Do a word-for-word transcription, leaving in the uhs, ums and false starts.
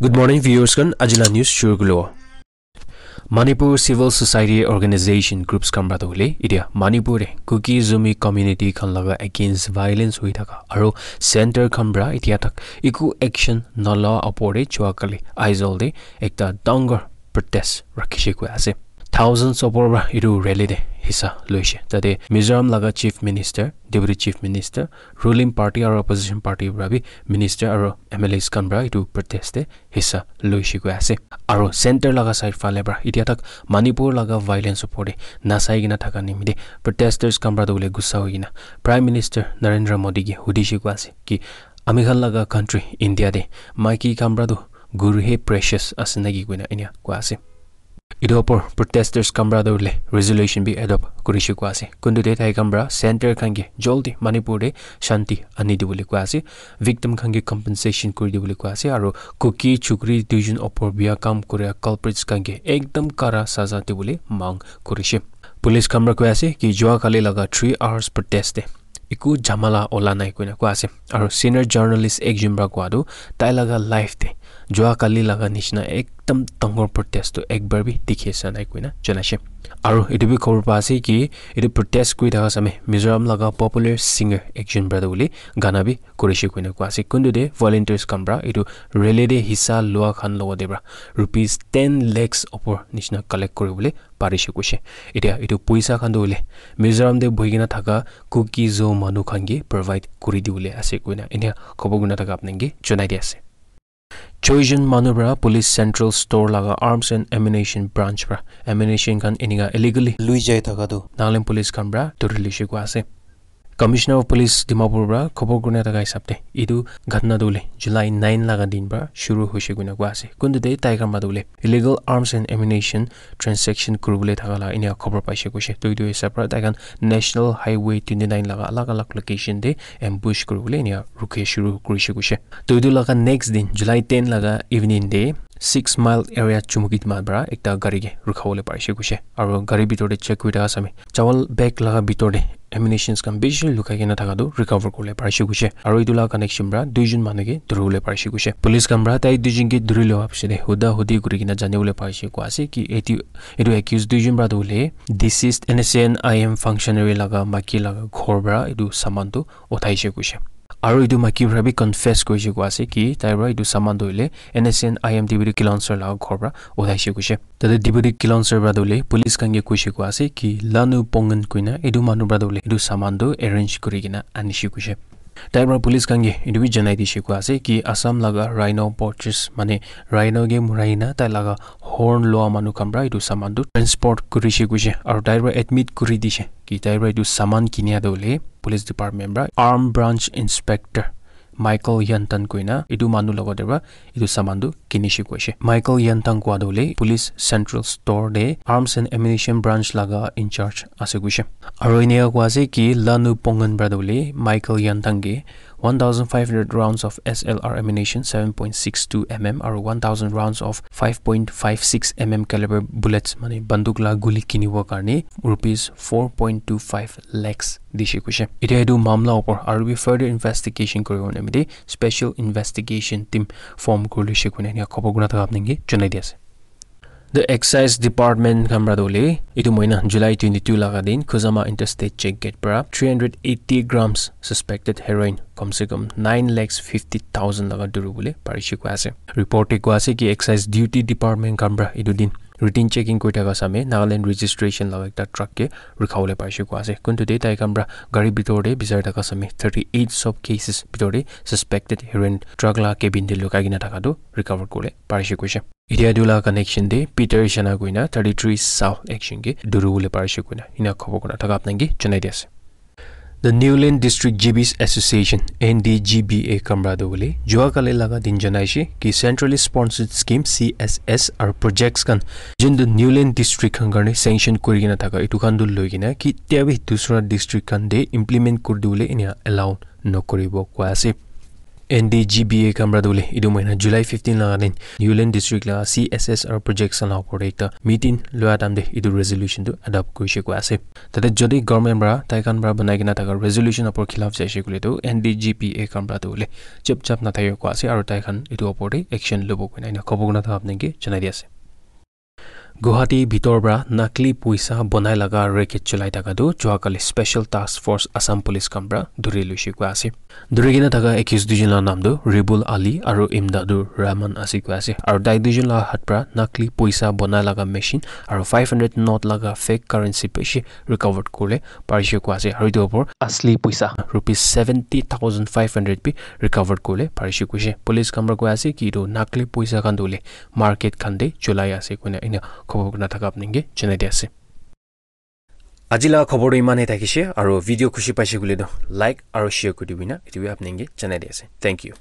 Good morning, viewers khan. Ajila news shuru kulo. Manipur Civil Society Organization groups khan pra tu hoile, itia Manipur te Kuki Zomi community khan laga against violence hui thaka aro center khan pra itia tak eku action nala opor te jua kali Aizawl te ekta dangor protest rakhishe koi ase. Thousands opor pra itu rally te hissa loishe. Tate Mizoram laga Chief Minister, Deputy Chief Minister, ruling party aro opposition party pra bi minister aro M L As khan pra itu protest te hissa loishe koi ase. Aro center laga side phale pra itia tak Manipur laga violence opor te nasai kena thaka nimite protesters khan pra tu hoile gussa hoi kena Prime Minister Narendra Modi ke hudishe koi ase ki ami khan laga country India te maiki khan pra tu guru he precious ase naki koina enia koi ase. Itu opor protesters khan pra tu hoile resolution bi adopt kurishe koi ase. Kuntu te tai khan pra center khan ke joldi Manipur te shanti ani dibole koi ase. Victim khan ke compensation kuri dibole koi ase. Aro Kuki chukri duijon opor bia kam kuria culprits khan ke ekdam kara saza dibole mang kurishe. Police khan pra koi ase ki jua kali laga three hours protest te eku jhamala ola nai koina koi ase. Aro senior journalist ekjon pra koi tu tai laga life te jua kali laga nishina ekdam dangor protest tu ekbar bi dikhi asa nai koina janaishe. Aro itu bi khobor pa ase ki itu protest kuri thaka same Mizoram laga popular singer ekjon pra tu hoile gana bi kurishe koina koi ase. Kuntu te volunteers khan pra itu rally te hissa lua khan logote pra rupees ten lakhs opor nishina collect kuribole parishe koishe. Itia itu poisa khan tu hoile Mizoram te bohi kena thaka Kuki Zo manu khan ke provide kuri dibole ase koina enia khobor kuna thaka apnang ke janai di ase. Choijon manu pra police central store laga arms and ammunition branch pra ammunition khan enika illegally lui jai thaka tu Nagaland police khan pra dhuri lishe koi ase. Commissioner of Police Dimapur pra khobor kurina thaka hisab te itu ghatna tu hoile July nine laga din pra shuru hoishe koina koi ase. Kuntu te tai khan pra tu hoile illegal arms and ammunition transaction kuribole thaka la enia khobor paishe koishe. To itu hisab pra tai khan National Highway twenty nine laga alag alag location te ambush kuribole enia rukhe shuru kurishe koishe. To itu laga next din July ten laga evening te six mile area Chumukidima pra ekta gari ke rukhabole parishe koishe. Aro gari bitor te check kuri thaka same chawal bag laga bitor te ammunitions khan bishi lukai kena thaka tu recover kuribole parishe koishe. Aro itu laga connection pra duijon manu ke dhuribole parishe koishe. Police khan pra tai duijon ke dhuri lowa piche te huda hudi kuri kena janibole parishe koi ase ki etu, etu accused duijon pra tu hoile deceased N S C N I M functionary laga maiki laga ghor pra etu saman tu uthaishe koishe. Aro etu maiki pra bi confess kurishe koi ase ki tai pra etu saman tu hoile N S C N I M Deputy Kilonser laga ghor pra uthaishe koishe. Tate Deputy Kilonser pra tu hoile police khan ke koishe koi ase ki Lanu Pongen koina etu manu pra tu hoile etu saman tu arrange kuri kena anishe koishe. Tai pra police khan ke etu bi janai dishe koi ase ki Assam laga rhino poachers mane rhino ke murai na tai laga horn loa manu khan pra etu saman tu transport kurishe koishe aro tai pra admit kuri dishe ki tai pra etu saman kinia tu hoile police department pra arm branch inspector Michael Yantan koina etu manu logote pra etu saman tu kinishe koishe. Michael Yantan koi tu hoile police central store te arms and ammunition branch laga in charge ase koishe. Aro enika koi ase ki Lanu Pongen pra tu hoile Michael Yantan ke one thousand five hundred rounds of S L R ammunition, seven point six two M M aro one thousand rounds of five point five six M M caliber bullets mane banduk la guli kinibo karne rupees four point two five lakhs dishe koishe. Itia etu mamla opor aru bi further investigation kuribo nimite special investigation team form kuri lishe koina enika khobor kuna thaka apni ke janai di ase. The Excise Department khan pra tu hoile etu moina July twenty two laga din Khuzama Interstate Check Gate pra three hundred eighty grams suspected heroin kom se kom nine lakhs fifty thousand laga dhuri bole parishe koi ase. Report te koi ase ki Excise Duty Department khan pra etu din routine checking kuri thaka same Nagaland registration laga ekta truck ke rukha bole parishe koi ase. Kuntu te tai khan pra gari bitor te bisai thaka same thirty eight sub cases bitor te suspected heroin truck la cabin te lukai kena thaka tu recover kuri bole parishe koishe. Itia etu la connection te Peter Shana koina thirty three South action ke dhuri bole parishe koina ena khobor kuna thaka apni ke janai di ase. The Niuland District G Bs Association, N D G B A khan pra tu hoile jua kali laga din janaishe ki centrally sponsored scheme C S S aru projects khan jin tu Niuland District khan karne sanction kuri kena thaka etu khan tu loi kena kitia bi dusra district khan te implement kuri dibole ena allow nokuribo koi ase. N D G B A khan para tu hoile etu mahina July fifteen laga din Ulen district laga C S S R projects khan laga opor te ekta meeting loa time te etu resolution tu adopt kurishe koi ase. Tate jodi government para tai khan para banai kena thaka resolution opor khilaf jaise koile tu N D G B A khan para tu hoile chap chap na thake koi ase aru tai khan etu opor te action lobo koina ena khobor kurna thaka apni ke janai di ase. Guwahati bhitor para nakli poisa bonai laga racket cholai thaka tu joa kali Special Task Force Assam Police khan para dhuri loise koi ase. Dhuri kena thaka accused duijon laga naam tu Ribul Ali aru Imdadur Rahman ase koi ase. Aru tai duijon laga hath para nakli poisa bonai laga machine aru five hundred note laga fake currency bishi recovered kurle parishe koi ase. Aru etu opor asli poisa rupees seventy thousand five hundred bi recovered kurle parishe koishe. Police khan para koi ase ki etu nakli poisa khan tu hoile market khan te cholai ase koina ena khobor kurna thaka apni ke janai di ase. Aji laga khobor tu iman he thakishe aru video khushi paishe koile tu like aru share kuri dibi na etu bi apni ke janai di ase. Thank you.